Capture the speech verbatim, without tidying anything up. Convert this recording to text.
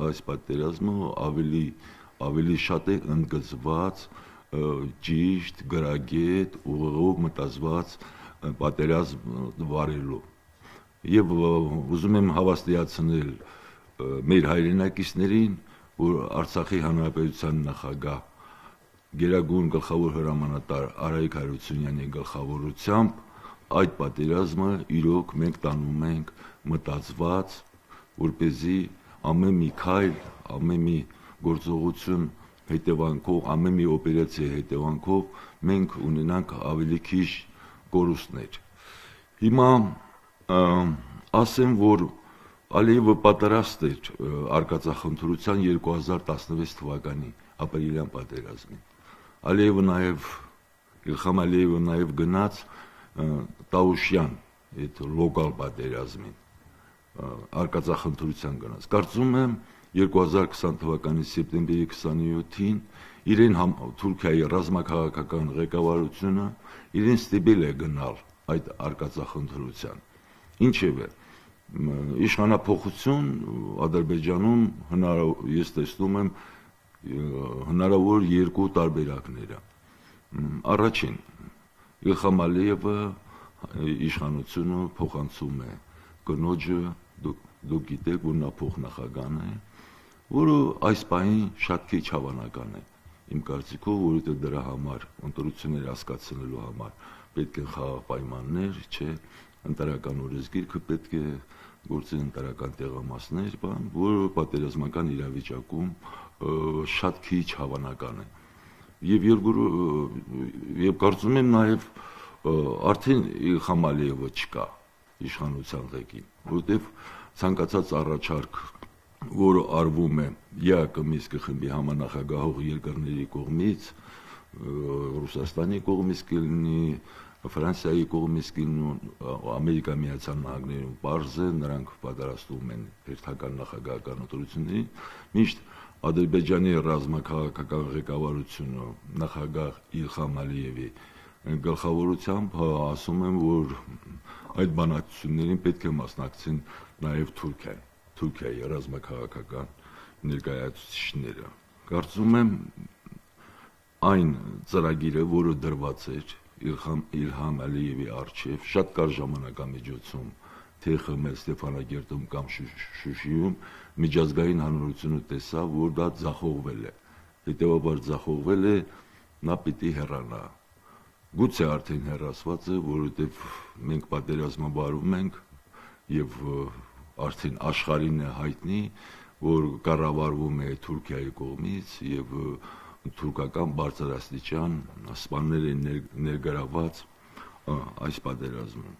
այս պատերազմը ավելի ավելի շատ է ընդգծված ճիշտ, գրագետ, ուղղով մտածված պատերազմ վարելու։ Եվ ուզում եմ հավաստիացնել մեր հայրենակիցներին, որ Արցախի Հանրապետության նախագահ Գերագույն գլխավոր հրամանատար Արայիկ Հարությունյանի գլխավորությամբ այդ պատերազմը իրոք մենք տանում ենք մտածված, որպեսզի ամեն մի քայլ, ամեն մի գործողություն հետևանքով, ամեն մի օպերացիա հետևանքով մենք ունենանք ավելի քիչ կորուստներ։ Հիմա ասեմ, որ Ալիևը պատրաստ էր արկածախնդրության երկու հազար տասնվեց թվականի ապրիլյան պատերազմին։ Ալիևը նաև Իլխամ Ալիևը նաև գնաց Տաուշյան այդ լոկալ պատերազմին արկածախնդրության գնաց։ Կարծում եմ երկու հազար քսան թվականի սեպտեմբերի քսաներկուսին իրեն Թուրքիայի ռազմաքաղաքական ղեկավարությունը իրեն ստիպել է գնալ այդ արկածախնդրության։ Ինչևէ, իշխանափոխություն Ադրբեջանում ես տեսնում եմ հնարավոր երկու տարբերակները։ Առաջին, Իլխամ Ալիևը իշխանությունը փոխանցում է կնոջը, դուք գիտեք, որ նա փոխնախագահ է, որը այս պահին շատ քիչ հավանական է իմ կարծիքով, որովհետև դրա համար ընտրություններ հասկացնելու համար պետք են խաղաղ պայմաններ, չէ, ընտրական օրենսգիրքը պետք է գործեն ընտրական տեղամասներ, բան, որը պատերազմական իրավիճակում շատ քիչ հավանական է։ Եվ եւ կարծում եմ նաև արդեն Իլխամ Ալիևը չկա իշխանության ղեկին, որովհետև ցանկացած առաջարկ, որը արվում է ԵԱԿ Մինսկի խմբի համանախագահող երկրների կողմից, Ռուսաստանի կողմից կլինի, Ֆրանսիայի կողմից կլինի, Ամերիկայի Միացյալ Նահանգներում պարզ է, նրանք պատրաստվում են հերթական նախագահական ընտրություններին, միշտ Ադրբեջանի ռազմաքաղաքական ղեկավարությունը նախագահ Իլխամ Ալիևի գլխավորությամբ ասում եմ, որ այդ բանակցություններին պետք է մասնակցեն նաև Թուրքիան, Թուրքիայի ռազմաքաղաքական ներկայացուցիչները։ Կարծում եմ այն ծրագիրը, որը դրված էր Իլհամ Ալիևի առջև շատ կարճ ժամանակամիջոցում թե Խմել Ստեփանագերտում կամ Շուշիում միջազգային հանրությունը տեսավ, որ դա ձախողվել է։ Հետևաբար ձախողվել է, նա պիտի հեռանա։ Գուցե արդեն հեռացված է, որովհետև մենք պատերազմաբարում ենք եւ արդեն աշխարհին է հայտնի, որ կառավարվում է Թուրքիայի կողմից եւ թուրքական բարձրաստիճան սպաներ են ներգրաված այս պատերազմում։